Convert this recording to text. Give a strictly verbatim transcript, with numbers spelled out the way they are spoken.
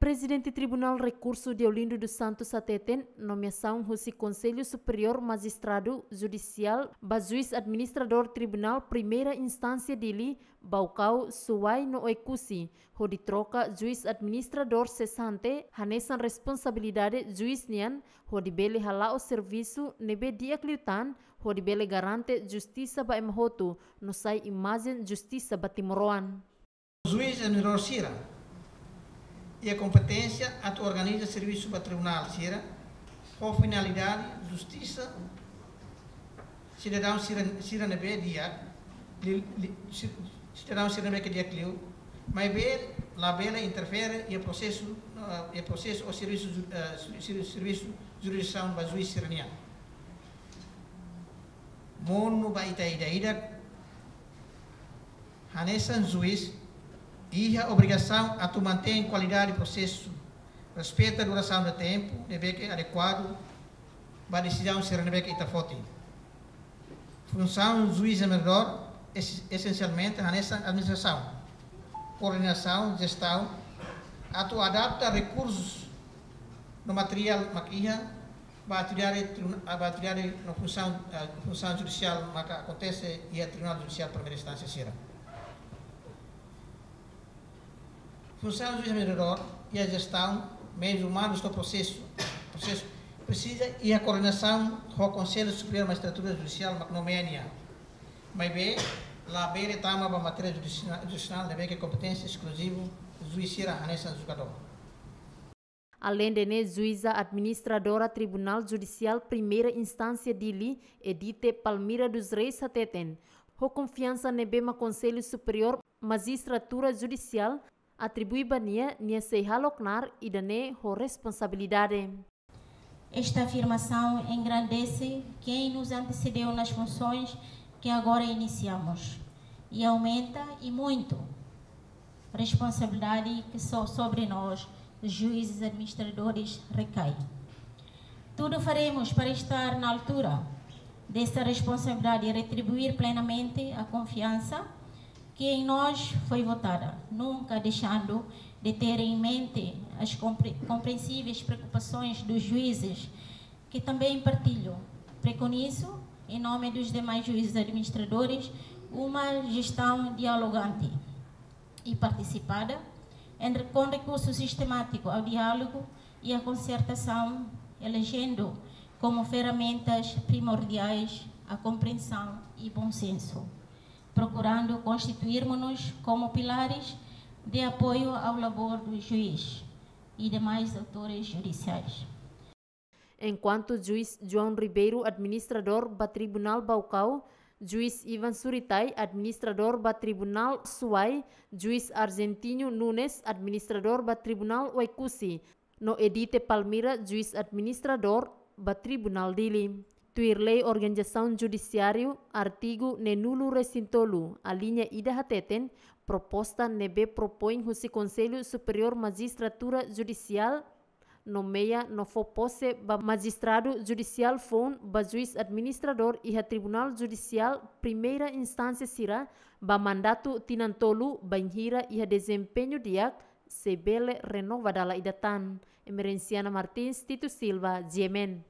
Prezidente Tribunál Rekursu Deolindo dos Santos hateten, nomeasaun husi Konsellu Superiór Majistradu Judisiál ba juís administradór Tribunál Primeira Instánsia Dili, Baucau, Suai no Oekusi, hodi troka juís administradór sesante, hanesan responsabilidade juís nian, hodi bele hala'o servisu ne'ebé di'ak liután, hodi bele garante justisa ba ema hotu, no sai imajen justisa ba timoroan. Juís administradór sira iha kompeténsia atu organiza servisu ba tribunál sira, ho finalidade justisa sidadaun sira, sira ne'ebé di'ak, li, li, si, sidadaun sira ne'ebé ke di'ak liu, maibé labele interfere iha prosesu, ah, iha prosesu ou servisu ju-, ah, ser-, ser-, servisu jurisdisaun ba juís sira-nian. Monu ba ita ida-idak, hanesan juís, iha obrigasaun atu mantein kualidade prosesu, respeita durasaun de tempu ne'ebé ke adekuadu ba desizaun sira ne'ebé ke ita foti. Funsaun juís administradór es-, esensialmente hanesan administrasaun, koordenasaun, jestaun, atu adapta rekursus no materiál mak iha, ba atividade tribuna-, ba atividade no funsaun, eh, funsaun judisiál maka akontese iha Tribunál Judisiál Primeira Instánsia sira. Funsaun juís mediadór iha jestaun meius umanus no prosesu, prosesu presiza iha koordenasaun ho Konsellu Superiór Majistratura Judisiál mak nomeia nia. Maibé, labele tama ba matéria judisi-, judisionál ne'ebé ke kompeténsia eskluzivu juís sira hanesan julgadór. Aleinde ne'e, juíza administradora Tribunál Judisiál Primeira Instánsia Dili, Edite Palmira dos Reis hateten, ho konfiansa ne'ebé mak Konsellu Superiór Majistratura Judisiál atribui ba nia, nia sei hala'o knaar ida-ne'e ho responsabilidade. Esta afirmação engrandece quem nos antecedeu nas funções que agora iniciamos e aumenta e muito responsabilidade que so-, sobre nós, juízes administradores, recai. Tudo faremos para estar na altura dessa responsabilidade e retribuir plenamente a confiança que em nós foi votada, nunca deixando de ter em mente as compre-, compreensíveis preocupações dos juízes, que também partilho. Preconizo, em nome dos demais juízes administradores, uma gestão dialogante e participada, entre, com recurso sistemático ao diálogo e à concertação, elegendo como ferramentas primordiais a compreensão e bom senso, procurando constituirmos-nos como pilares de apoio ao labor do juiz e demais autores judiciais. Enkuantu Juís João Ribeiro, administradór ba Tribunál Baucau, Juís Ivan Suritai, administradór ba Tribunál Suai, Juís Argentino Nunes, administradór ba Tribunál Oekusi, no Edite Palmira, juís administradór ba Tribunál Dili. Tuir lei organizasaun judisiáriu, artigu neenulu-resin-tolu, aliña ida hateten, proposta ne'ebé propoin husi Konsellu Superiór Majistratura Judisiál, nomeia no fó pose ba majistradu judisiál foun ba juís administradór iha Tribunál Judisiál Primeira Instánsia sira ba mandatu tinan tolu, bainhira iha dezempeñu di'ak, sei bele renova dala ida tan. Emerenciana Martins, Tito Silva, G M N.